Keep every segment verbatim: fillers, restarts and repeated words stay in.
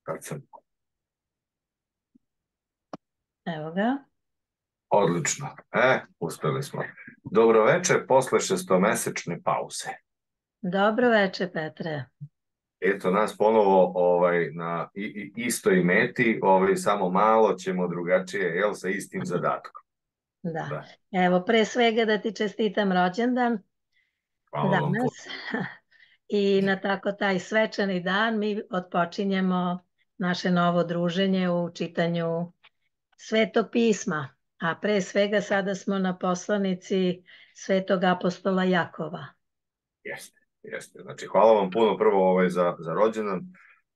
Kad sam... Evo ga. Odlično. E, uspeli smo. Dobro večer posle šestomesečne pauze. Dobro večer, Petre. Eto nas ponovo ovaj, na i, i, istoj meti, ovaj, samo malo ćemo drugačije, jel, sa istim zadatkom. Da. Da. Evo, pre svega da ti čestitam rođendan Hvala vam puno. danas. I na tako taj svečani dan mi otpočinjemo naše novo druženje u čitanju Svetog pisma. A pre svega sada smo na poslanici Svetog apostola Jakova. Jeste, jeste. Znači, hvala vam puno prvo ovaj, za, za rođendan.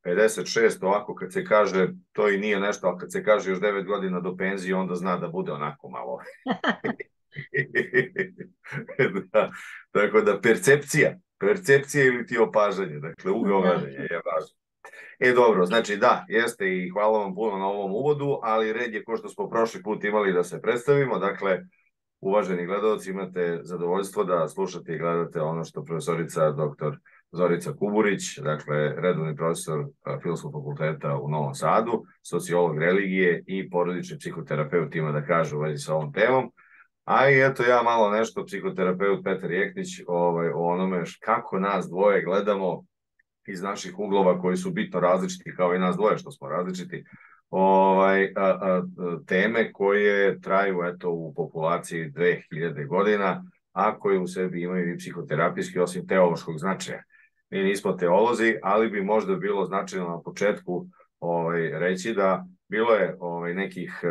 pedeset šest, ovako kad se kaže, to i nije nešto, ali kad se kaže još devet godina do penzije, onda zna da bude onako malo. Da, tako da percepcija, percepcija ili ti opažanje, dakle ugao gledanja je važno. E dobro, znači da, jeste i hvala vam puno na ovom uvodu, ali red je ko što smo prošli put imali da se predstavimo, dakle uvaženi gledalci imate zadovoljstvo da slušate i gledate ono što profesorica doktor Zorica Kuburić, dakle redovni profesor Filozofskog fakulteta u Novom Sadu, sociolog religije i porodični psihoterapeut ima da kaže u vezi sa ovom temom. A i eto ja malo nešto, psihoterapeut Petar Jeknić, ovaj, o onome kako nas dvoje gledamo iz naših uglova koji su bitno različiti, kao i nas dvoje što smo različiti, ovaj, a, a, teme koje traju eto, u populaciji dve hiljade godina, a koje u sebi imaju i psihoterapijski, osim teološkog značaja. Mi nismo teolozi, ali bi možda bilo značajno na početku ovaj, reći da bilo je ovaj, nekih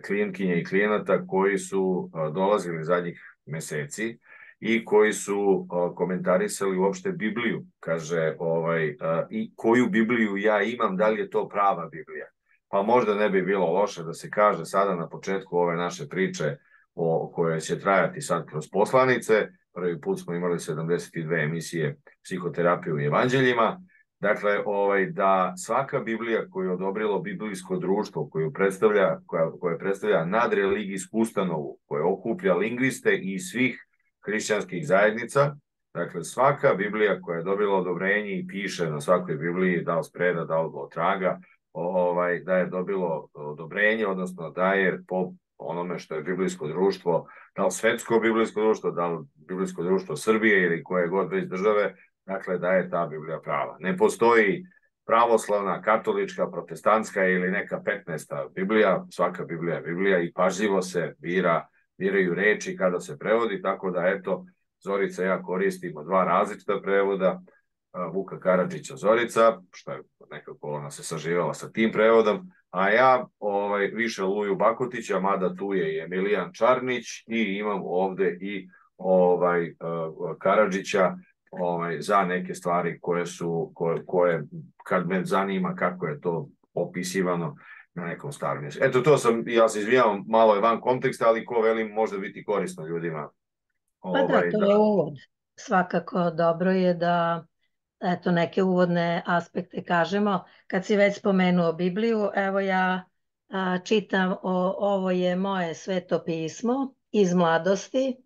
klijentkinja i klijenata koji su dolazili zadnjih meseci i koji su komentarisali uopšte Bibliju. Kaže, ovaj, i koju Bibliju ja imam, da li je to prava Biblija? Pa možda ne bi bilo loše da se kaže sada na početku ove naše priče o kojoj će trajati sad kroz poslanice. Prvi put smo imali sedamdeset dve emisije psihoterapije u evanđeljima. Dakle, ovaj, da svaka Biblija koju je odobrilo biblijsko društvo, koju predstavlja, koja, koja predstavlja nadreligijsku ustanovu, koja okuplja lingviste i svih hrišćanskih zajednica, dakle svaka Biblija koja je dobila odobrenje i piše na svakoj Bibliji, da li spreda, da li od traga, ovaj, da je dobilo odobrenje, odnosno da je po onome što je biblijsko društvo, da li svetsko biblijsko društvo, da li biblijsko društvo Srbije ili koje god već države, dakle da je ta Biblija prava. Ne postoji pravoslavna, katolička, protestantska ili neka petnaesta Biblija, svaka Biblija je Biblija i pažljivo se bira, biraju reči kada se prevodi, tako da eto, Zorica i ja koristimo dva različita prevoda, Vuka Karadžića Zorica, što je nekako ona se saživala sa tim prevodom, a ja ovaj, više Luju Bakotića, mada tu je i Emilijan Čarnić i imam ovde i ovaj, Karadžića ovaj, za neke stvari koje su, koje, koje, kad me zanima kako je to opisivano na nekom starom mjestu. Eto, to sam, ja se izvinjavam, malo je van konteksta, ali ko velim, može biti korisno ljudima. Pa da, to je uvod. Svakako dobro je da eto, neke uvodne aspekte kažemo. Kad si već spomenuo Bibliju, evo ja a, čitam o, ovo je moje sveto pismo iz mladosti,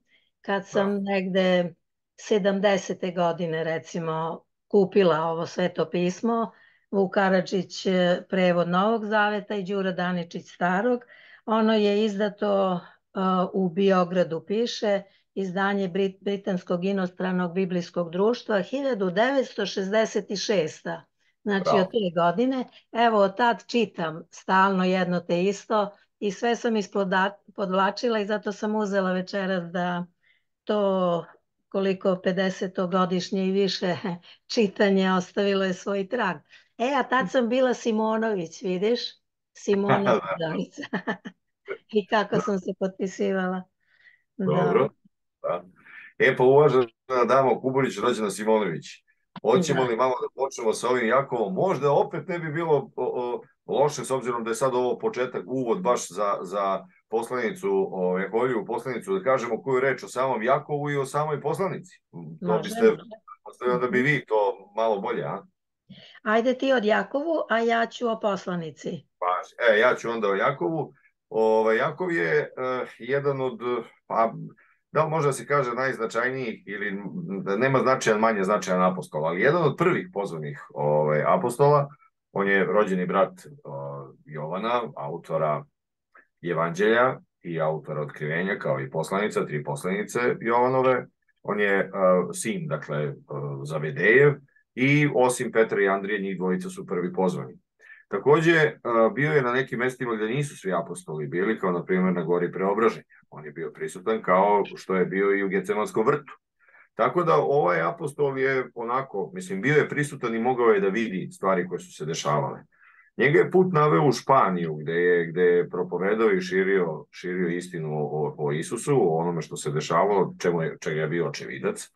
kad sam da. negde sedamdesete godine recimo kupila ovo sveto pismo, Vuk Karadžić prevod Novog Zaveta i Đura Daničić Starog. Ono je izdato a, u Biogradu piše, izdanje Brit, Britanskog inostranog biblijskog društva hiljadu devetsto šezdeset šeste. Znači Bravo. Od te godine. Evo od tad čitam stalno jedno te isto i sve sam ispodvlačila i zato sam uzela večeras da to koliko pedesetogodišnje i više čitanje ostavilo je svoj trag. E, a tad sam bila Simonović, vidiš? Simonović Zorica. I kako sam se potpisivala. Dobro. Da. E pa uvažena dama Kuburić, rođena Simonović, hoćemo da. li malo da počnemo sa ovim Jakovom? Možda opet ne bi bilo o, o, loše s obzirom da je sad ovo početak, uvod baš za, za poslanicu, o Jakovlju poslanicu, da kažemo koju reč o samom Jakovu i o samoj poslanici. To može, biste, može. Da bi vi to malo bolje, a? Ajde ti od Jakovu, a ja ću o poslanici. Pa, e, ja ću onda o Jakovu. O, Jakov je uh, jedan od, pa, da li može da se kaže najznačajnijih ili da nema značajan, manje značajan apostola, ali jedan od prvih pozvanih ovaj, apostola. On je rođeni brat Jovana, autora Evanđelja i autora Otkrivenja, kao i poslanica, tri poslanice Jovanove. On je sin, dakle, Zavedejev, i osim Petra i Andrije, njih dvojica su prvi pozvani. Takođe, bio je na nekim mestima gde nisu svi apostoli bili, kao na primjer na gori Preobraženja. On je bio prisutan kao što je bio i u Gecemanskom vrtu. Tako da ovaj apostol je onako, mislim, bio je prisutan i mogao je da vidi stvari koje su se dešavale. Njega je put naveo u Španiju, gde je, gde je propovedao i širio, širio istinu o, o Isusu, o onome što se dešavalo, čemu je, čega je bio očevidac.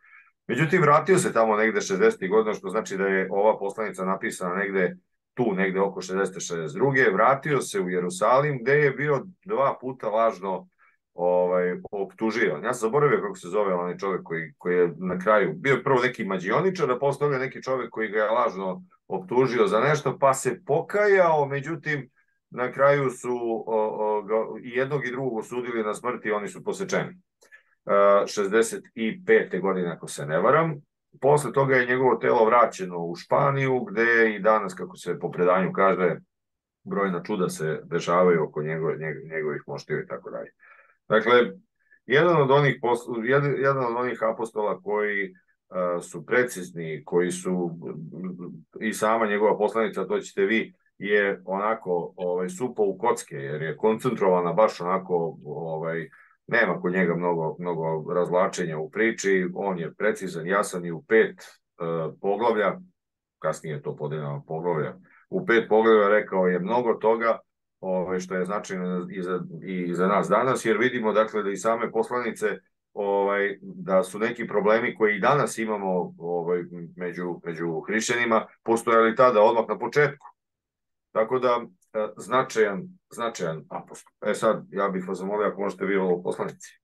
Međutim, vratio se tamo negde šezdesetih godina, što znači da je ova poslanica napisana negde tu, negde oko šezdeset šezdeset druge Vratio se u Jerusalim, gde je bio dva puta lažno ovaj, optužio. Ja sam zaboravio kako se zove onaj čovjek koji, koji je na kraju bio prvo neki mađioničar, a posle neki čovjek koji ga je lažno optužio za nešto, pa se pokajao, međutim, na kraju su o, o, ga, i jednog i drugog osudili na smrt i oni su posečeni. E, šezdeset pete godine, ako se ne varam. Posle toga je njegovo telo vraćeno u Španiju, gde i danas, kako se po predanju kaže, brojna čuda se dešavaju oko njegove, njegovih mošteva i tako dalje. Dakle, jedan od onih, jedan, jedan od onih apostola koji uh, su precizni, koji su i sama njegova poslanica, to ćete vi, je onako ovaj, supo u kocke, jer je koncentrovana baš onako, ovaj, nema kod njega mnogo, mnogo razvlačenja u priči, on je precizan, jasan i u pet uh, poglavlja, kasnije je to podeljeno poglavlja, u pet poglavlja rekao je mnogo toga, Ove, što je značajno i za, i za nas danas, jer vidimo dakle da i same poslanice ovaj, da su neki problemi koji i danas imamo ovaj, među, među hrišćanima postojali tada odmah na početku. Tako da značajan, značajan apostol. E sad, ja bih vas zamolio ako možete vi ovo poslanici.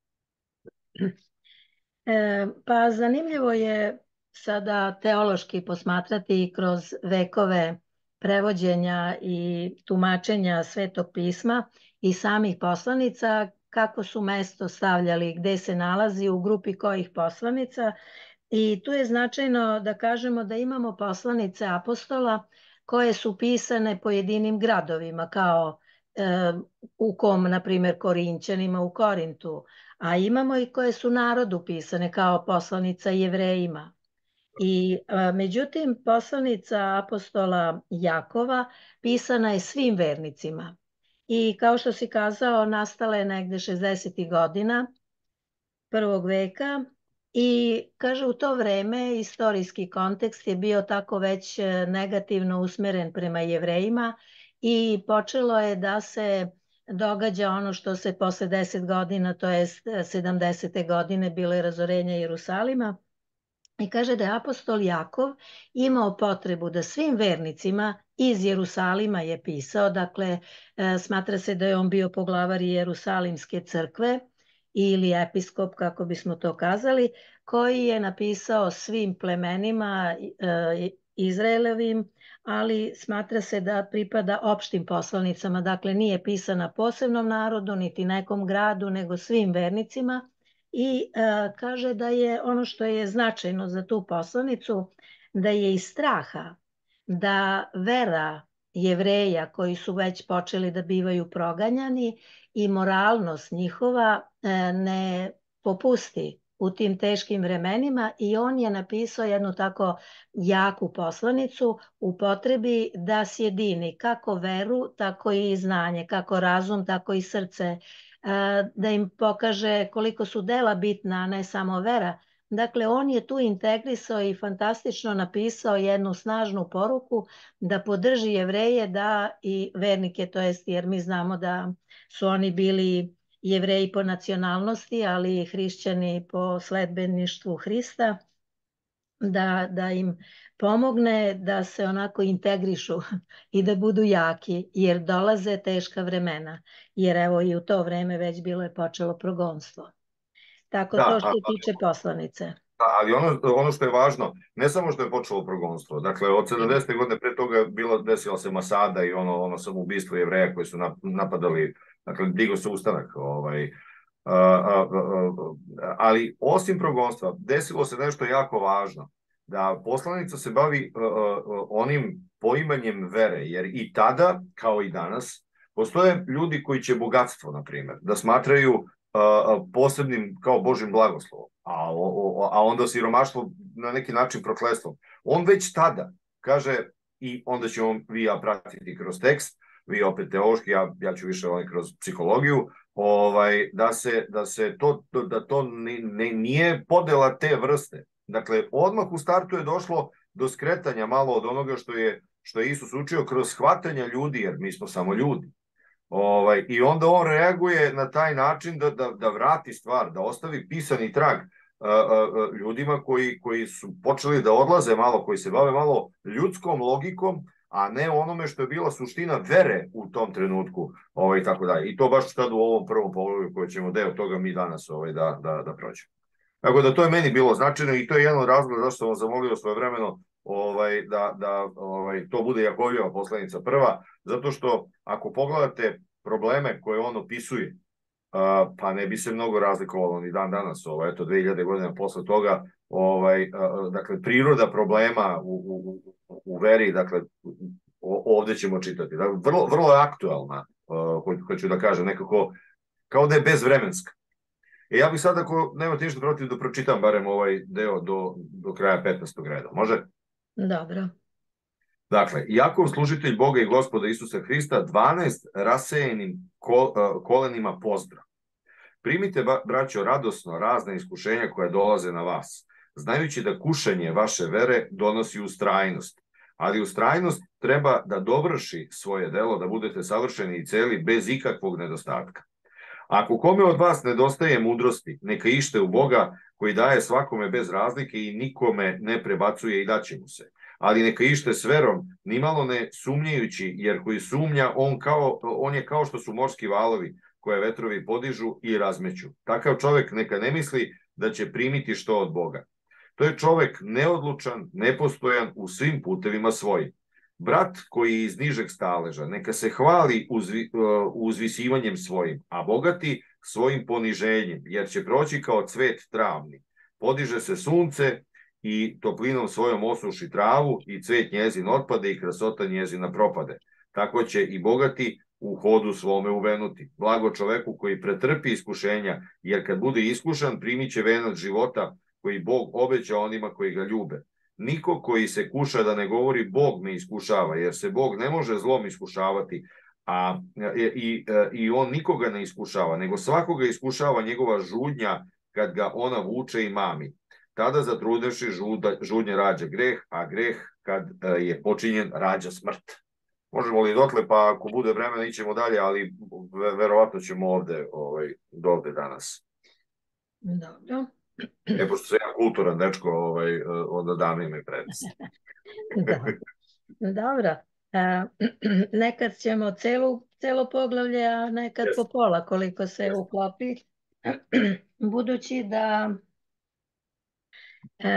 E, pa zanimljivo je sada teološki posmatrati kroz vekove prevođenja i tumačenja Svetog pisma i samih poslanica, kako su mesto stavljali, gde se nalazi, u grupi kojih poslanica. I tu je značajno da kažemo da imamo poslanice apostola koje su pisane pojedinim gradovima, kao e, u kom, na primjer, Korinćanima u Korintu, a imamo i koje su narodu pisane, kao poslanica Jevrejima. I a, međutim, poslanica apostola Jakova pisana je svim vernicima. I kao što si kazao, nastala je negde šezdesetih godina prvog veka i kaže u to vreme istorijski kontekst je bio tako već negativno usmeren prema Jevrejima i počelo je da se događa ono što se posle deset godina, to je sedamdesete godine, bilo je razorenje Jerusalima. I kaže da je apostol Jakov imao potrebu da svim vernicima iz Jerusalima je pisao, dakle smatra se da je on bio poglavar Jerusalimske crkve ili episkop, kako bismo to kazali, koji je napisao svim plemenima Izraelovim, ali smatra se da pripada opštim poslanicama, dakle nije pisana posebnom narodu, niti nekom gradu, nego svim vernicima. I a, kaže da je ono što je značajno za tu poslanicu, da je iz straha da vera Jevreja koji su već počeli da bivaju proganjani i moralnost njihova a, ne popusti u tim teškim vremenima i on je napisao jednu tako jaku poslanicu u potrebi da sjedini kako veru, tako i znanje, kako razum, tako i srce, da im pokaže koliko su dela bitna, a ne samo vera. Dakle, on je tu integrisao i fantastično napisao jednu snažnu poruku da podrži Jevreje da i vernike, to jest jer mi znamo da su oni bili Jevreji po nacionalnosti, ali i hrišćani po sledbeništvu Hrista, da, da im pomogne da se onako integrišu i da budu jaki, jer dolaze teška vremena. Jer evo i u to vreme već bilo je počelo progonstvo. Tako da, to što se tiče poslanice. Da, ali ono, ono što je važno, ne samo što je počelo progonstvo, dakle od sedamdesete godine pre toga bilo, desila se Masada i ono, ono samoubistvo Jevreja koji su napadali, dakle digo se ustanak, ovaj, a, a, a, ali osim progonstva desilo se nešto jako važno. da poslanica se bavi uh, uh, onim poimanjem vere, jer i tada, kao i danas, postoje ljudi koji će bogatstvo, na primjer, da smatraju uh, posebnim kao Božim blagoslovom, a, o, a onda siromaštvo na neki način prokletstvom. On već tada kaže, i onda ćemo vi ja pratiti kroz tekst, vi opet teološki, ja, ja ću više ovaj kroz psihologiju, ovaj, da se, da se to, da to ne, ne, nije podela te vrste. Dakle, odmah u startu je došlo do skretanja malo od onoga što je, što je Isus učio kroz shvatanja ljudi, jer mi smo samo ljudi. Ovaj, I onda on reaguje na taj način da, da, da vrati stvar, da ostavi pisani trag a, a, ljudima koji, koji su počeli da odlaze malo, koji se bave malo ljudskom logikom, a ne onome što je bila suština vere u tom trenutku, ovaj, tako da. I to baš sad u ovom prvom poglavlju koje ćemo deo toga mi danas ovaj, da, da, da prođemo. Tako da to je meni bilo značajno i to je jedan od razloga zašto sam vam zamolio svojevremeno ovaj, da, da ovaj, to bude Jakovljeva poslanica prva, zato što ako pogledate probleme koje on opisuje, uh, pa ne bi se mnogo razlikovalo ni dan danas, ovaj, eto dve hiljade godina posle toga, ovaj, uh, dakle, priroda problema u, u, u veri, dakle, ovde ćemo čitati. Dakle, vrlo, vrlo je aktuelna, uh, hoću da kažem, nekako, kao da je bezvremenska. E ja bih sad, ako nemate ništa protiv, da pročitam barem ovaj deo do, do kraja petnaestog reda. Može? Dobro. Dakle, Jakov, služitelj Boga i Gospoda Isusa Hrista, dvanaest rasejenim kol, kolenima pozdrav. Primite, braćo, radosno razna iskušenja koja dolaze na vas, znajući da kušanje vaše vere donosi ustrajnost. Ali ustrajnost treba da dovrši svoje delo, da budete savršeni i celi bez ikakvog nedostatka. Ako kome od vas nedostaje mudrosti, neka ište u Boga koji daje svakome bez razlike i nikome ne prebacuje i daće mu se. Ali neka ište s verom, nimalo ne sumnjajući, jer koji sumnja, on, kao, on je kao što su morski valovi koje vetrovi podižu i razmeću. Takav čovek neka ne misli da će primiti što od Boga. To je čovek neodlučan, nepostojan u svim putevima svojim. Brat koji je iz nižeg staleža, neka se hvali uzvi, uzvisivanjem svojim, a bogati svojim poniženjem, jer će proći kao cvet travni. Podiže se sunce i toplinom svojom osuši travu i cvet njezin otpade i krasota njezina propade. Tako će i bogati u hodu svome uvenuti. Blago čoveku koji pretrpi iskušenja, jer kad bude iskušan primit će venac života koji Bog obeća onima koji ga ljube. Niko koji se kuša da ne govori Bog me iskušava, jer se Bog ne može zlom iskušavati, a i, i on nikoga ne iskušava, nego svakoga iskušava njegova žudnja kad ga ona vuče i mami. Tada zatrudevši žudnja rađa greh, a greh kad je počinjen rađa smrt. Možemo li dotle, pa ako bude vremena ićemo dalje, ali verovatno ćemo ovde, ovaj, do ovde danas. Dobro. E, pošto sam ja kulturan dečko, ovaj, onda dam ime prednost. Dobro. A, nekad ćemo celu, celo poglavlje, a nekad yes. po pola, koliko se yes. uklopi. Budući da,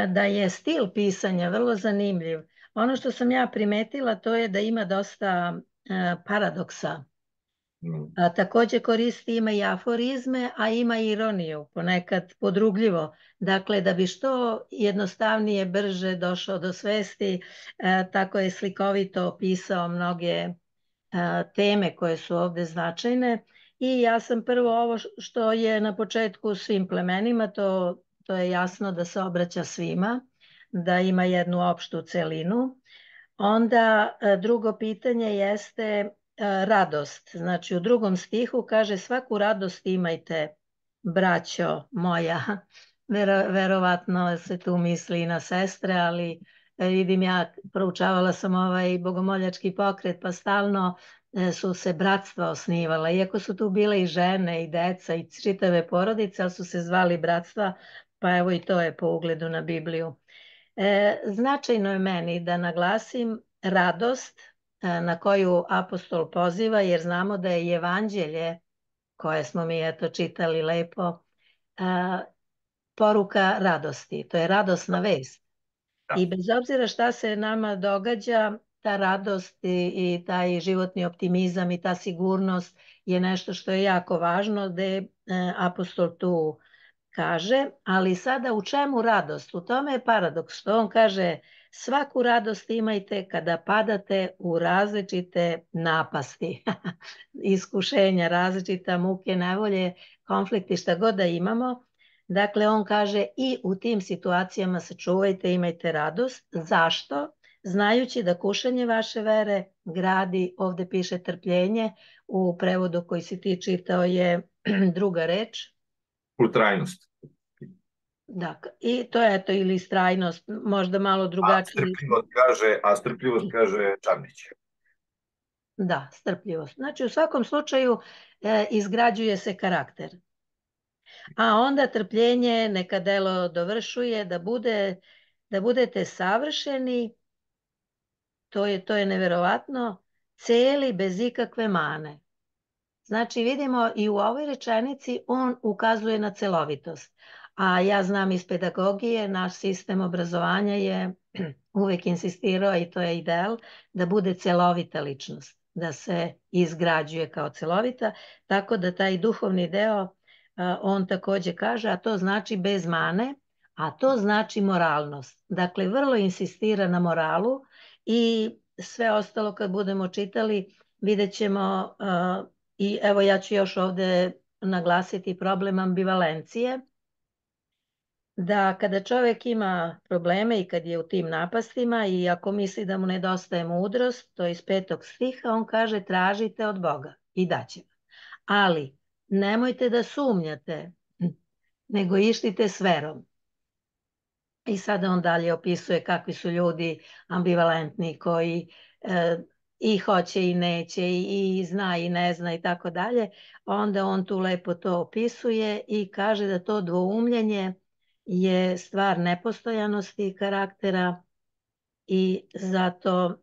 da je stil pisanja vrlo zanimljiv. Ono što sam ja primetila to je da ima dosta paradoksa. A, takođe koristi, ima i aforizme, a ima i ironiju, ponekad podrugljivo. Dakle, da bi što jednostavnije, brže došao do svesti, a, tako je slikovito opisao mnoge a, teme koje su ovde značajne. I ja sam prvo ovo što je na početku svim plemenima, to, to je jasno da se obraća svima, da ima jednu opštu celinu. Onda a, drugo pitanje jeste radost. Znači u drugom stihu kaže svaku radost imajte, braćo moja. Vero, verovatno se tu misli i na sestre, ali vidim ja, proučavala sam ovaj bogomoljački pokret, pa stalno su se bratstva osnivala. Iako su tu bile i žene i deca i čitave porodice, ali su se zvali bratstva, pa evo i to je po ugledu na Bibliju. E, značajno je meni da naglasim radost na koju apostol poziva, jer znamo da je evanđelje, koje smo mi eto čitali lepo, poruka radosti. To je radosna vest. Da. I bez obzira šta se nama događa, ta radost i, i taj životni optimizam i ta sigurnost je nešto što je jako važno, gde apostol tu kaže, ali sada u čemu radost? U tome je paradoks, što on kaže svaku radost imajte kada padate u različite napasti, iskušenja, različita muke, nevolje, konflikti, šta god da imamo. Dakle, on kaže i u tim situacijama sačuvajte, imajte radost. Zašto? Znajući da kušanje vaše vere gradi, ovde piše trpljenje, u prevodu koji si ti čitao je druga reč. Ustrajnost. Da, i to je to, ili istrajnost, možda malo drugačije. A strpljivost kaže, a strpljivost kaže Čarnić. Da, strpljivost. Znači, u svakom slučaju e, izgrađuje se karakter. A onda trpljenje neka delo dovršuje, da, bude, da budete savršeni, to je, to je neverovatno, celi bez ikakve mane. Znači, vidimo i u ovoj rečenici on ukazuje na celovitost. A ja znam iz pedagogije, naš sistem obrazovanja je uvek insistirao, i to je ideal, da bude celovita ličnost, da se izgrađuje kao celovita, tako da taj duhovni deo on takođe kaže, a to znači bez mane, a to znači moralnost. Dakle, vrlo insistira na moralu i sve ostalo kad budemo čitali vidjet ćemo, i evo ja ću još ovde naglasiti problem ambivalencije, da kada čovjek ima probleme i kad je u tim napastima i ako misli da mu nedostaje mudrost, to je iz petog stiha, on kaže tražite od Boga i daće vam. Ali nemojte da sumnjate, nego ištite s verom. I sada on dalje opisuje kakvi su ljudi ambivalentni koji e, i hoće i neće i, i zna i ne zna i tako dalje. Onda on tu lepo to opisuje i kaže da to dvoumljenje je stvar nepostojanosti karaktera i zato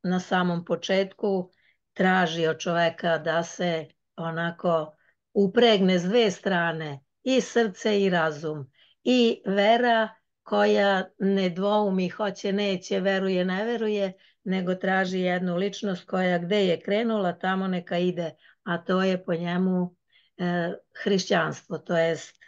na samom početku traži od čoveka da se onako upregne s dve strane, i srce i razum, i vera koja ne dvoumi, hoće, neće, veruje, ne veruje, nego traži jednu ličnost koja gde je krenula, tamo neka ide, a to je po njemu e, hrišćanstvo, to jest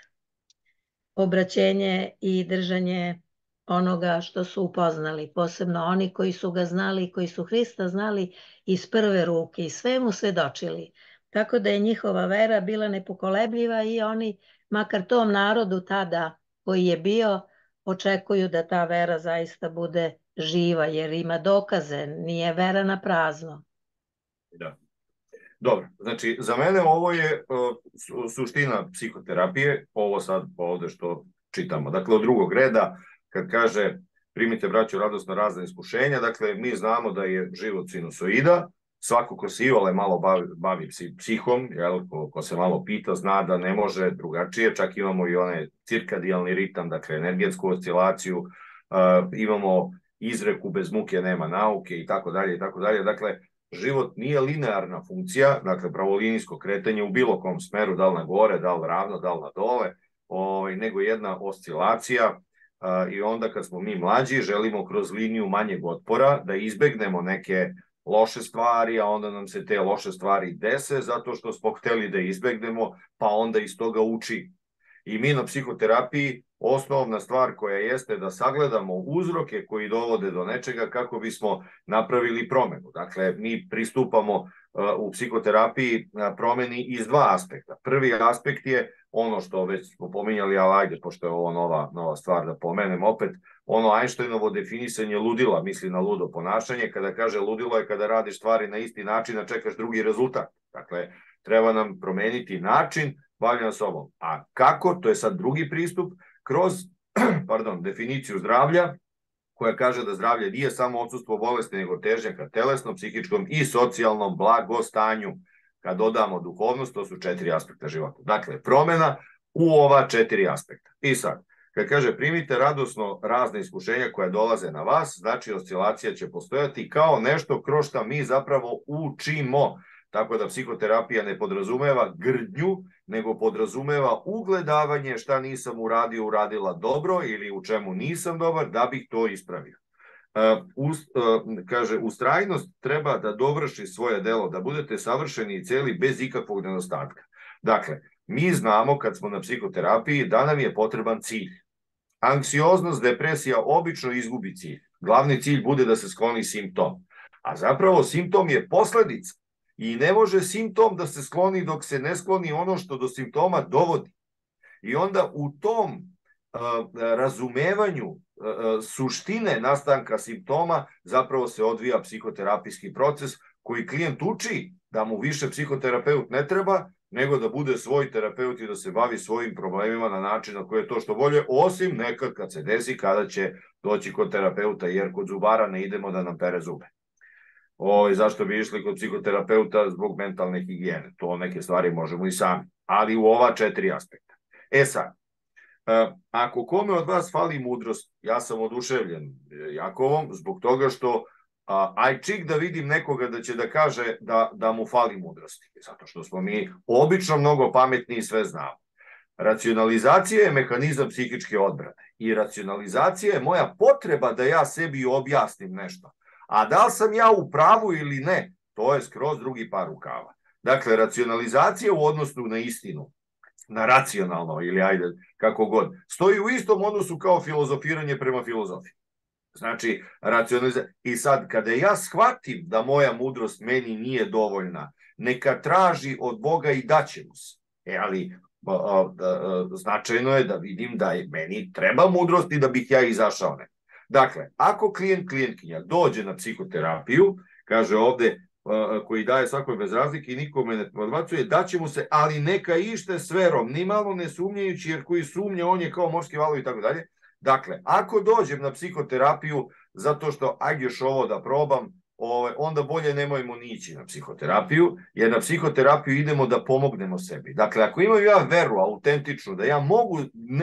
obraćenje i držanje onoga što su upoznali, posebno oni koji su ga znali, koji su Hrista znali iz prve ruke i sve mu svedočili. Tako da je njihova vera bila nepokolebljiva i oni, makar tom narodu tada koji je bio, očekuju da ta vera zaista bude živa, jer ima dokaze, nije vera na prazno. Da. Dobro, znači za mene ovo je uh, suština psihoterapije, ovo sad ovde što čitamo. Dakle, od drugog reda, kad kaže primite braću radosno razna iskušenja, dakle, mi znamo da je život sinusoida, svako ko se iole malo bavi, bavi psihom, jel, ko, ko se malo pita, zna da ne može drugačije, čak imamo i onaj cirkadijalni ritam, dakle, energetsku oscilaciju, uh, imamo izreku bez muke nema nauke i tako dalje i tako dalje, dakle, život nije linearna funkcija, dakle pravolinijsko kretanje u bilo kom smeru, da li na gore, da li ravno, da li na dole, ovaj, nego jedna oscilacija a, i onda kad smo mi mlađi želimo kroz liniju manjeg otpora da izbegnemo neke loše stvari, a onda nam se te loše stvari dese zato što smo hteli da izbegnemo, pa onda iz toga uči. I mi na psihoterapiji osnovna stvar koja jeste da sagledamo uzroke koji dovode do nečega kako bismo napravili promenu. Dakle, mi pristupamo uh, u psihoterapiji promeni iz dva aspekta. Prvi aspekt je ono što već smo pominjali, ali ajde, pošto je ovo nova, nova stvar da pomenem opet, ono Einsteinovo definisanje ludila, misli na ludo ponašanje, kada kaže ludilo je kada radiš stvari na isti način, a čekaš drugi rezultat. Dakle, treba nam promeniti način bavljanja sobom. A kako? To je sad drugi pristup, kroz pardon, definiciju zdravlja, koja kaže da zdravlje nije samo odsustvo bolesti, nego težnja ka telesnom, psihičkom i socijalnom blagostanju. Kad dodamo duhovnost, to su četiri aspekta života. Dakle, promena u ova četiri aspekta. I sad, kad kaže primite radosno razne iskušenja koja dolaze na vas, znači oscilacija će postojati kao nešto kroz što mi zapravo učimo. Tako da psihoterapija ne podrazumeva grdnju, nego podrazumeva ugledavanje šta nisam uradio, uradila dobro ili u čemu nisam dobar, da bih to ispravio. Uh, us, uh, kaže, ustrajnost treba da dovrši svoje delo, da budete savršeni i celi bez ikakvog nedostatka. Dakle, Mi znamo kad smo na psihoterapiji da nam je potreban cilj. Anksioznost, depresija obično izgubi cilj. Glavni cilj bude da se skloni simptom. A zapravo simptom je posledica. I ne može simptom da se skloni dok se ne skloni ono što do simptoma dovodi. I onda u tom uh, razumevanju uh, suštine nastanka simptoma zapravo se odvija psihoterapijski proces koji klijent uči da mu više psihoterapeut ne treba, nego da bude svoj terapeut i da se bavi svojim problemima na način na koji je to što bolje, osim nekad kad se desi kada će doći kod terapeuta, jer kod zubara ne idemo da nam pere zube. O, zašto bi išli kod psihoterapeuta? Zbog mentalne higijene. To neke stvari možemo i sami, ali u ova četiri aspekta. E sad, ako kome od vas fali mudrost, ja sam oduševljen Jakovom zbog toga što A, aj čik da vidim nekoga da će da kaže da, da mu fali mudrosti, zato što smo mi obično mnogo pametni i sve znamo. Racionalizacija je mehanizam psihičke odbrane i racionalizacija je moja potreba da ja sebi objasnim nešto. A da li sam ja u pravu ili ne, to je skroz drugi par rukava. Dakle, racionalizacija u odnosu na istinu, na racionalno ili ajde kako god, stoji u istom odnosu kao filozofiranje prema filozofiji. Znači, racionalizacija. I sad, kada ja shvatim da moja mudrost meni nije dovoljna, neka traži od Boga i daće mu se. E, ali a, a, a, značajno je da vidim da je meni treba mudrost i da bih ja izašao ne. Dakle, ako klijent, klijentkinja dođe na psihoterapiju, kaže ovde, a, koji daje svakoj bez razlike i nikome ne odbacuje, daće mu se, ali neka ište s verom, ni malo ne sumnjajući, jer koji sumnja, on je kao morski valovi i tako dalje. Dakle, ako dođem na psihoterapiju zato što ajde još ovo da probam, onda bolje nemojmo ni ići na psihoterapiju, jer na psihoterapiju idemo da pomognemo sebi. Dakle, ako imam ja veru autentičnu, da ja mogu,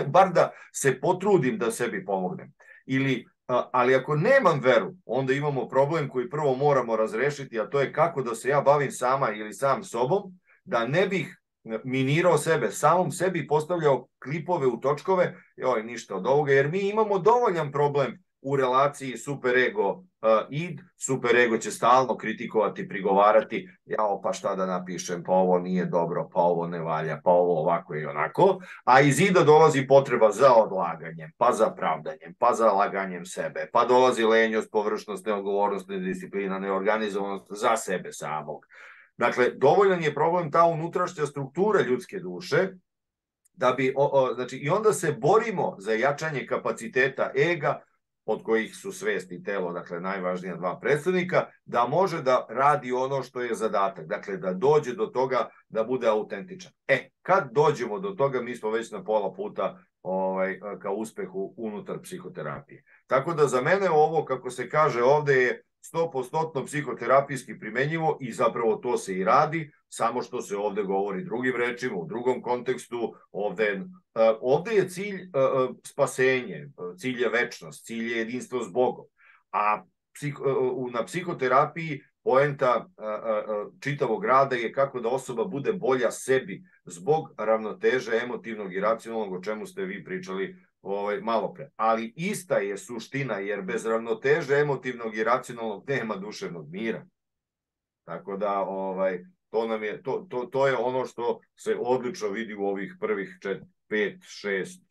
bar da se potrudim da sebi pomognem, ili, ali ako nemam veru, onda imamo problem koji prvo moramo razrešiti, a to je kako da se ja bavim sama ili sam sobom, da ne bih minirao sebe, samom sebi postavljao klipove u točkove, joj, ništa od ovoga, jer mi imamo dovoljan problem u relaciji superego uh, id, superego će stalno kritikovati, prigovarati, jao, pa šta da napišem, pa ovo nije dobro, pa ovo ne valja, pa ovo ovako i onako, a iz ida dolazi potreba za odlaganjem, pa za pravdanjem, pa za laganjem sebe, pa dolazi lenjost, površnost, neodgovornost, nedisciplina, neorganizovanost za sebe samog. Dakle, dovoljan je problem ta unutrašnja struktura ljudske duše, da bi, o, o, znači, i onda se borimo za jačanje kapaciteta ega, od kojih su svest i telo, dakle, najvažnija dva predstavnika, da može da radi ono što je zadatak, dakle, da dođe do toga da bude autentičan. E, kad dođemo do toga, mi smo već na pola puta ovaj, ka uspehu unutar psihoterapije. Tako da za mene ovo, kako se kaže ovde, je sto posto psihoterapijski primenjivo i zapravo to se i radi, samo što se ovde govori drugim rečima, u drugom kontekstu. Ovde, ovde je cilj spasenje, cilj je večnost, cilj je jedinstvo s Bogom. A na psihoterapiji poenta čitavog rada je kako da osoba bude bolja sebi zbog ravnoteže emotivnog i racionalnog, o čemu ste vi pričali Ovaj, malo pre. Ali ista je suština, jer bez ravnoteže emotivnog i racionalnog nema duševnog mira. Tako da ovaj, to, nam je, to, to, to je ono što se odlično vidi u ovih prvih čet, pet, šest,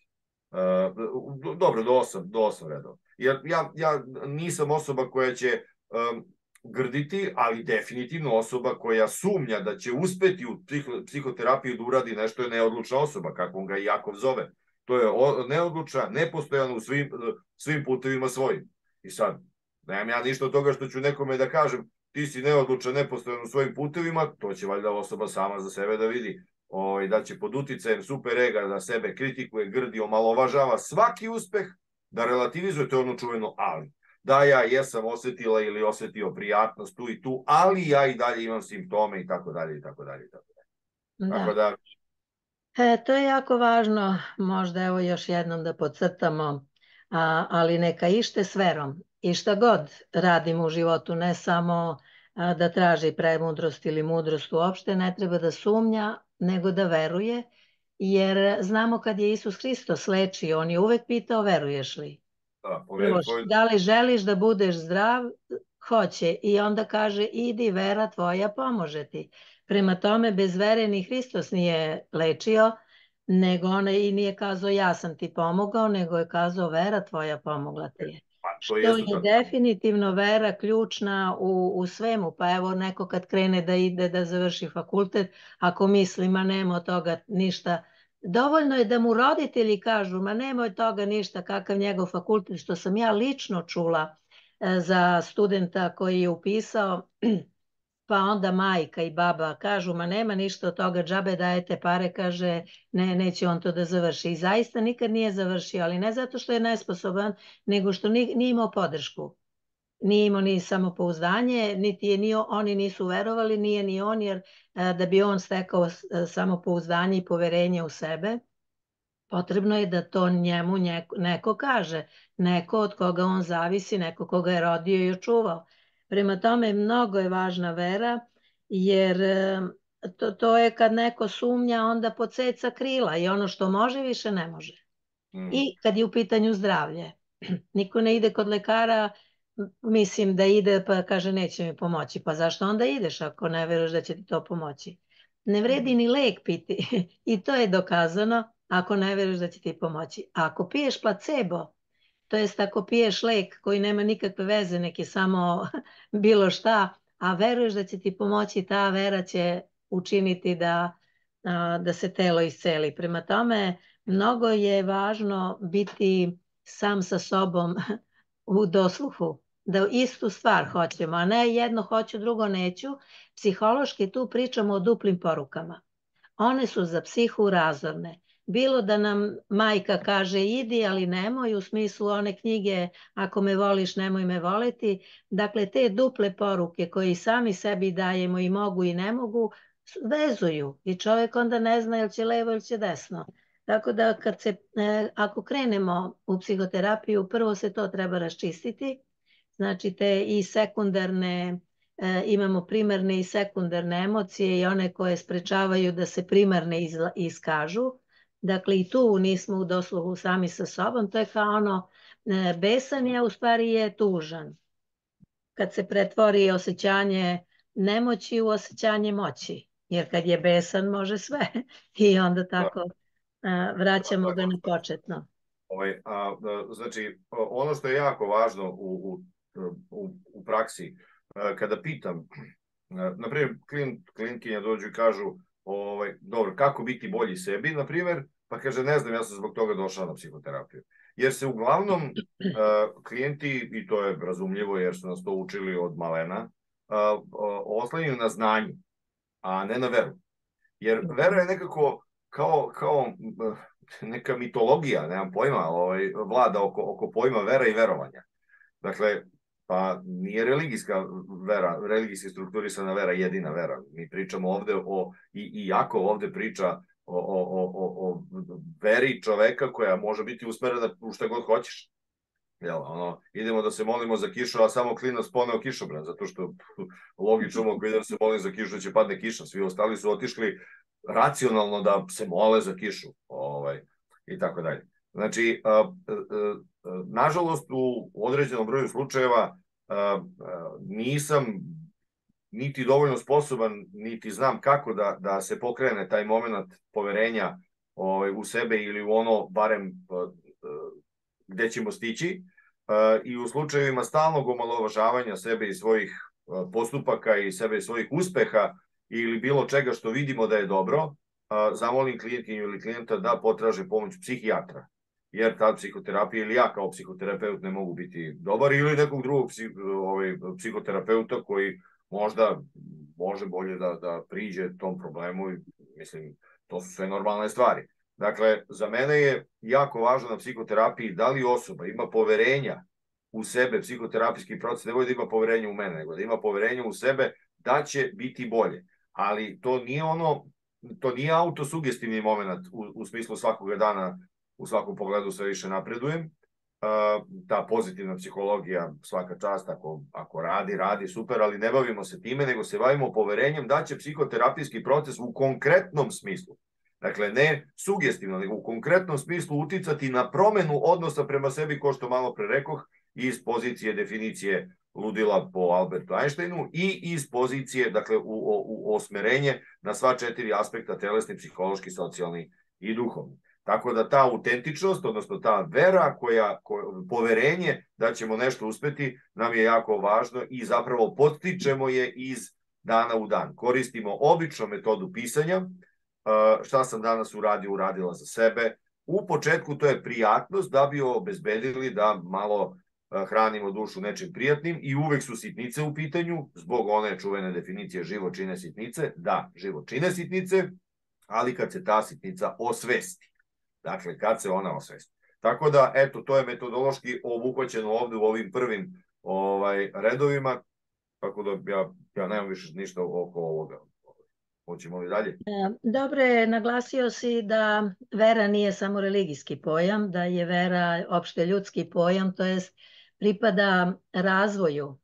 uh, dobro, do osam, do osam redova. Jer ja, ja nisam osoba koja će um, grditi, ali definitivno osoba koja sumnja da će uspeti u psihoterapiju da uradi nešto je neodlučna osoba, kako on ga i Jakov zove. To je neodlučna, nepostojana u svim, svim putevima svojim. I sad, nemam ja ništa od toga što ću nekome da kažem ti si neodlučan, nepostojan u svojim putevima, to će valjda osoba sama za sebe da vidi. O, da će pod uticajem superega da sebe kritikuje, grdi, omalovažava svaki uspeh, da relativizuje, to je ono čuveno ali. Da, ja jesam osetila ili osetio prijatnost tu i tu, ali ja i dalje imam simptome i tako dalje i tako dalje i tako dalje. Tako da... E, to je jako važno, možda evo još jednom da podcrtamo, a, ali neka ište s verom i šta god radimo u životu, ne samo a, da traži premudrost ili mudrost uopšte, ne treba da sumnja, nego da veruje, jer znamo kad je Isus Hristos lečio, on je uvek pitao veruješ li? Da, poveri, poveri. Da li želiš da budeš zdrav? hoće i onda kaže idi vera tvoja pomože ti. Prema tome bez vere ni Hristos nije lečio, nego ona i nije kazao ja sam ti pomogao, nego je kazao vera tvoja pomogla ti je. Što je definitivno vera ključna u, u svemu, pa evo neko kad krene da ide da završi fakultet, ako misli ma nema od toga ništa, dovoljno je da mu roditelji kažu ma nema od toga ništa, kakav njegov fakultet, što sam ja lično čula za studenta koji je upisao, pa onda majka i baba kažu ma nema ništa od toga, džabe dajete pare, kaže ne, neće on to da završi. I zaista nikad nije završio, ali ne zato što je nesposoban, nego što nije imao podršku. Nije imao ni samopouzdanje, niti je ni oni nisu verovali, nije ni on, jer da bi on stekao samopouzdanje i poverenje u sebe, potrebno je da to njemu neko kaže, neko od koga on zavisi, neko koga je rodio i očuvao. Prema tome, mnogo je važna vera, jer to, to je kad neko sumnja, onda podseca krila i ono što može, više ne može. Mm. I kad je u pitanju zdravlje. Niko ne ide kod lekara, mislim da ide pa kaže neće mi pomoći. Pa zašto onda ideš ako ne veruješ da će ti to pomoći? Ne vredi ni lek piti i to je dokazano ako ne veruješ da će ti pomoći. A ako piješ placebo, to jest ako piješ lek koji nema nikakve veze, neki samo bilo šta, a veruješ da će ti pomoći, ta vera će učiniti da, da se telo isceli. Prema tome, mnogo je važno biti sam sa sobom u dosluhu, da istu stvar hoćemo, a ne jedno hoću, drugo neću. Psihološki tu pričamo o duplim porukama. One su za psihu razorne. Bilo da nam majka kaže idi, ali nemoj, u smislu one knjige ako me voliš, nemoj me voliti. Dakle, te duple poruke koje sami sebi dajemo i mogu i ne mogu, vezuju i čovjek onda ne zna ili će levo ili će desno. Tako da kad se, ako krenemo u psihoterapiju, prvo se to treba raščistiti, znači te i sekundarne, imamo primarne i sekundarne emocije i one koje sprečavaju da se primarne iskažu. Dakle, i tu nismo u dosluhu sami sa sobom, to je kao ono, besan je, u stvari je tužan. Kad se pretvori osjećanje nemoći u osjećanje moći, jer kad je besan može sve i onda tako a, vraćamo ga na početno. Ovaj, a, znači, ono što je jako važno u, u, u, u praksi, kada pitam, na primjer, klient, klijentkinja dođu i kažu, ovaj, dobro, kako biti bolji sebi, na primjer, pa kaže, ne znam, ja sam zbog toga došao na psihoterapiju. Jer se uglavnom uh, klijenti, i to je razumljivo jer su nas to učili od malena, uh, uh, oslanjaju na znanje, a ne na veru. Jer vera je nekako kao, kao uh, neka mitologija, nemam pojma, ovaj, vlada oko, oko pojma vera i verovanja. Dakle, pa nije religijska vera, religijski strukturisana vera jedina vera. Mi pričamo ovde o, i, i jako ovde priča o, o, o, o veri čoveka koja može biti usmerena u šta god hoćeš. Jel, ono, idemo da se molimo za kišu, a samo klinac poneo kišobran, zato što logično mogu idem da se molim za kišu, da će padne kiša. Svi ostali su otišli racionalno da se mole za kišu, ovaj, i tako dalje. Znači, a, a, a, nažalost, u određenom broju slučajeva a, a, nisam niti dovoljno sposoban, niti znam kako da, da se pokrene taj moment poverenja ovaj, u sebe ili u ono, barem a, a, gde ćemo stići, a, i u slučajevima stalnog omalovažavanja sebe i svojih a, postupaka i sebe i svojih uspeha ili bilo čega što vidimo da je dobro, a, zamolim klijentkinju ili klijenta da potraže pomoć psihijatra. Jer ta psihoterapija ili ja kao psihoterapeut ne mogu biti dobar ili nekog drugog psih, ovaj, psihoterapeuta koji možda može bolje da, da priđe tom problemu i mislim, to su sve normalne stvari. Dakle, za mene je jako važno na psihoterapiji da li osoba ima poverenja u sebe, psihoterapijski proces, ne da ima poverenja u mene, nego da ima poverenja u sebe da će biti bolje. Ali to nije ono, to nije autosugestivni moment u, u smislu svakoga dana, u svakom pogledu sve više napredujem. Uh, ta pozitivna psihologija svaka čast, ako, ako radi, radi, super, ali ne bavimo se time, nego se bavimo poverenjem da će psihoterapijski proces u konkretnom smislu, dakle ne sugestivno, nego u konkretnom smislu uticati na promenu odnosa prema sebi, ko što malo pre rekoh, iz pozicije definicije ludila po Albertu Einsteinu i iz pozicije, dakle, u, u, u osmerenje na sva četiri aspekta, telesni, psihološki, socijalni i duhovni. Tako da ta autentičnost, odnosno ta vera, koja, koja, poverenje da ćemo nešto uspeti, nam je jako važno i zapravo podstičemo je iz dana u dan. Koristimo običnu metodu pisanja, šta sam danas uradio, uradila za sebe. U početku to je prijatnost da bi obezbedili da malo hranimo dušu nečim prijatnim i uvek su sitnice u pitanju, zbog one čuvene definicije život čine sitnice. Da, život čine sitnice, ali kad se ta sitnica osvesti. Dakle, kad se ona osvesti. Tako da, eto, to je metodološki obuhvaćeno ovde u ovim prvim ovaj, redovima, tako da ja, ja nemam više ništa oko ovoga. Hoćemo li dalje? Dobro je, naglasio si da vera nije samo religijski pojam, da je vera opšte ljudski pojam, to jest pripada razvoju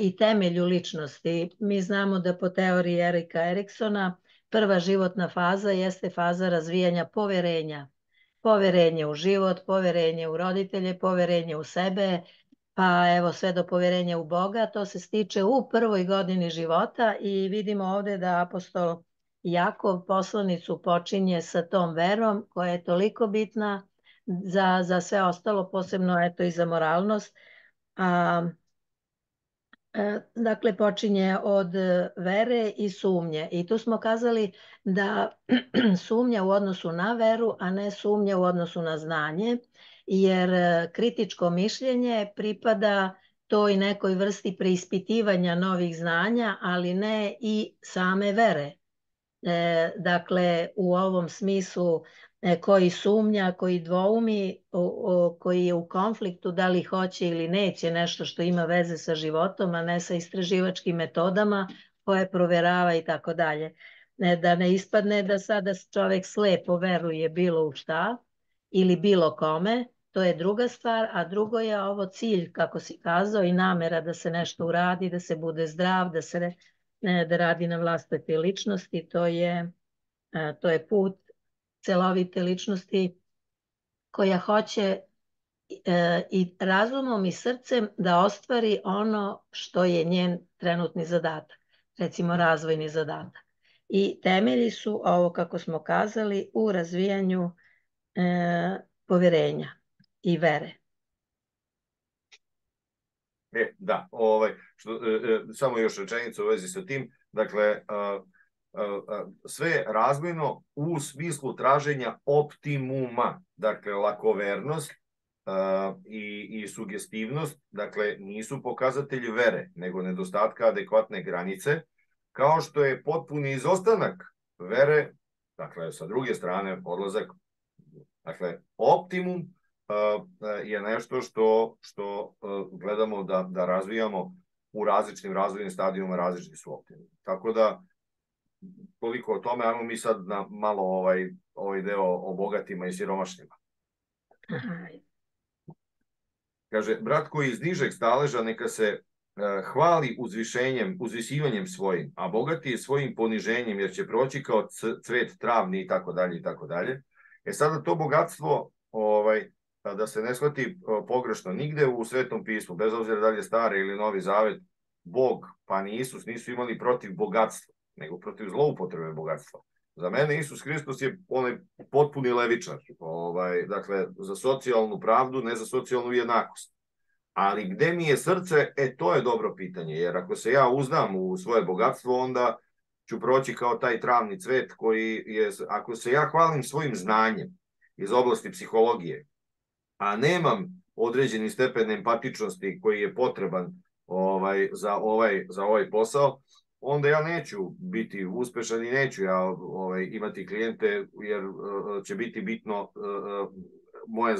i temelju ličnosti. Mi znamo da po teoriji Erika Eriksona prva životna faza jeste faza razvijanja poverenja. Poverenje u život, poverenje u roditelje, poverenje u sebe, pa evo sve do poverenja u Boga. To se stiče u prvoj godini života i vidimo ovde da apostol Jakov poslanicu počinje sa tom verom koja je toliko bitna za, za sve ostalo, posebno eto i za moralnost. A, Dakle, počinje od vere i sumnje. I tu smo kazali da sumnja u odnosu na veru, a ne sumnja u odnosu na znanje, jer kritičko mišljenje pripada toj nekoj vrsti preispitivanja novih znanja, ali ne i same vere. Dakle, u ovom smislu koji sumnja, koji dvoumi, koji je u konfliktu da li hoće ili neće nešto što ima veze sa životom, a ne sa istraživačkim metodama koje proverava i tako dalje. Da ne ispadne da sada čovek slepo veruje bilo u šta ili bilo kome, to je druga stvar, a drugo je ovo cilj, kako si kazao, i namera da se nešto uradi, da se bude zdrav, da se da radi na vlastite ličnosti, to je, to je put celovite ličnosti koja hoće i razumom i srcem da ostvari ono što je njen trenutni zadatak, recimo razvojni zadatak. I temelji su, ovo kako smo kazali, u razvijanju e, poverenja i vere. E, da, ovaj, što, e, samo još rečenica u vezi sa tim, dakle, a, sve razvojno u smislu traženja optimuma, dakle lakovernost uh, i, i sugestivnost, dakle nisu pokazatelji vere, nego nedostatka adekvatne granice, kao što je potpuni izostanak vere, dakle sa druge strane odlazak, dakle optimum uh, je nešto što, što uh, gledamo da, da razvijamo u različitim razvojnim stadijima, različiti su optimum. Tako da koliko o tome, ajmo mi sad na malo ovaj, ovaj deo o bogatima i siromašnima. Kaže, brat koji iz nižeg staleža neka se uh, hvali uzvišenjem, uzvisivanjem svojim, a bogati je svojim poniženjem, jer će proći kao cvet travni i tako dalje i tako dalje. E sada to bogatstvo, ovaj, da se ne shvati pogrešno, nigde u Svetom pismu, bez obzira da li je Stari ili Novi Zavet, Bog, pa ni Isus nisu imali protiv bogatstva, nego protiv zloupotrebe bogatstva. Za mene Isus Hristos je onaj potpuni levičar, ovaj, dakle, za socijalnu pravdu, ne za socijalnu jednakost. Ali gde mi je srce, e, to je dobro pitanje, jer ako se ja uzdam u svoje bogatstvo, onda ću proći kao taj travni cvet koji je, ako se ja hvalim svojim znanjem iz oblasti psihologije, a nemam određeni stepen empatičnosti koji je potreban ovaj, za, ovaj, za ovaj posao, onda ja neću biti uspešan i neću ja ovaj, imati klijente, jer uh, će biti bitno uh, moje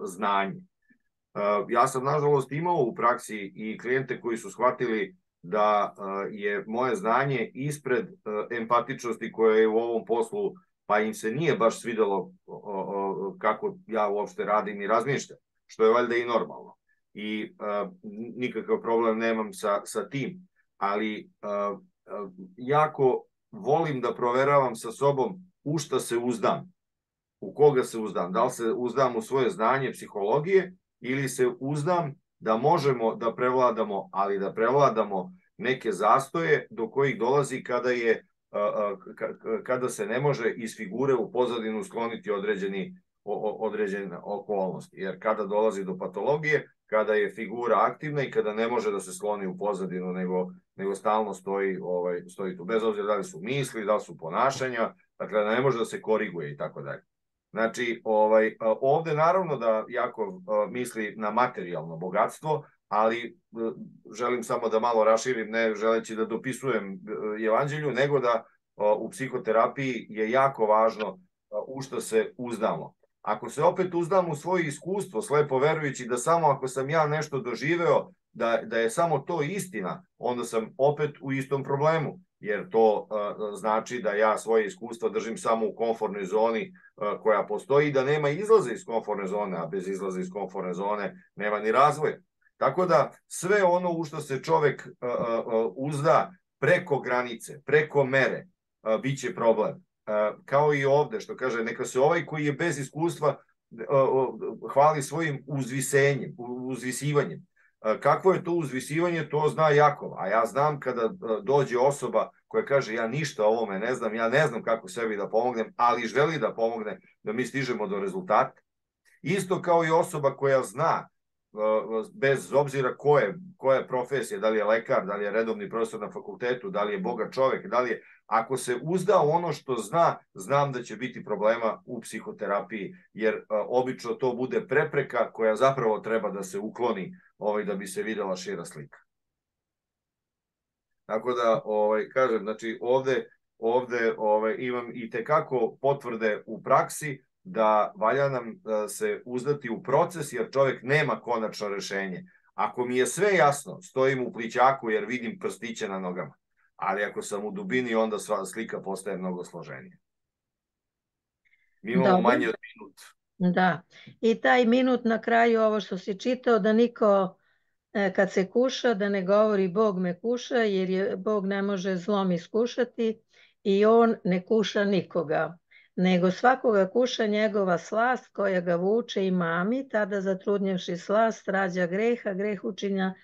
znanje. Uh, ja sam, nažalost, imao u praksi i klijente koji su shvatili da uh, je moje znanje ispred uh, empatičnosti koja je u ovom poslu, pa im se nije baš svidelo uh, uh, kako ja uopšte radim i razmišljam, što je valjda i normalno. I uh, nikakav problem nemam sa, sa tim. Ali uh, uh, jako volim da proveravam sa sobom u šta se uzdam, u koga se uzdam, da li se uzdam u svoje znanje psihologije ili se uzdam da možemo da prevladamo, ali da prevladamo neke zastoje do kojih dolazi kada je kada se ne može iz figure u pozadinu skloniti određeni određene okolnosti. Jer kada dolazi do patologije, kada je figura aktivna i kada ne može da se skloni u pozadinu, nego, nego stalno stoji, ovaj, stoji tu. Bez obzira da li su misli, da li su ponašanja, dakle ne može da se koriguje i tako dalje. Znači, ovaj, ovde naravno da Jakov misli na materijalno bogatstvo, ali želim samo da malo raširim, ne želeći da dopisujem evanđelju, nego da u psihoterapiji je jako važno u što se uzdamo. Ako se opet uzdam u svoje iskustvo, slepo verujući da samo ako sam ja nešto doživeo, da, da je samo to istina, onda sam opet u istom problemu, jer to uh, znači da ja svoje iskustva držim samo u komfortnoj zoni uh, koja postoji, da nema izlaza iz komfortne zone, a bez izlaza iz komfortne zone nema ni razvoja. Tako da sve ono u što se čovek uh, uh, uzda preko granice, preko mere, uh, bit će problem. Kao i ovde, što kaže, neka se ovaj koji je bez iskustva hvali svojim uzvisenjem, uzvisivanjem. Kakvo je to uzvisivanje, to zna Jakov, a ja znam kada dođe osoba koja kaže ja ništa o ovome ne znam, ja ne znam kako sebi da pomognem, ali želi da pomogne da mi stižemo do rezultata. Isto kao i osoba koja zna, bez obzira ko je, koja je profesija, da li je lekar, da li je redovni profesor na fakultetu, da li je bogat čovek, da li je, ako se uzda ono što zna, znam da će biti problema u psihoterapiji, jer a, obično to bude prepreka koja zapravo treba da se ukloni ovaj, da bi se videla šira slika. Tako da, ovaj, kažem, znači ovde, ovde ovaj, imam i tekako potvrde u praksi da valja nam se uzdati u proces, jer čovjek nema konačno rešenje. Ako mi je sve jasno, stojim u plićaku jer vidim prstiće na nogama. Ali ako sam u dubini, onda sva slika postaje mnogo složenija. Mi imamo Dobre. manje od minut. Da. I taj minut na kraju, ovo što si čitao, da niko kad se kuša, da ne govori Bog me kuša, jer je, Bog ne može zlom iskušati i on ne kuša nikoga, nego svakoga kuša njegova slast koja ga vuče i mami, tada zatrudnjevši slast rađa greha, greh učinja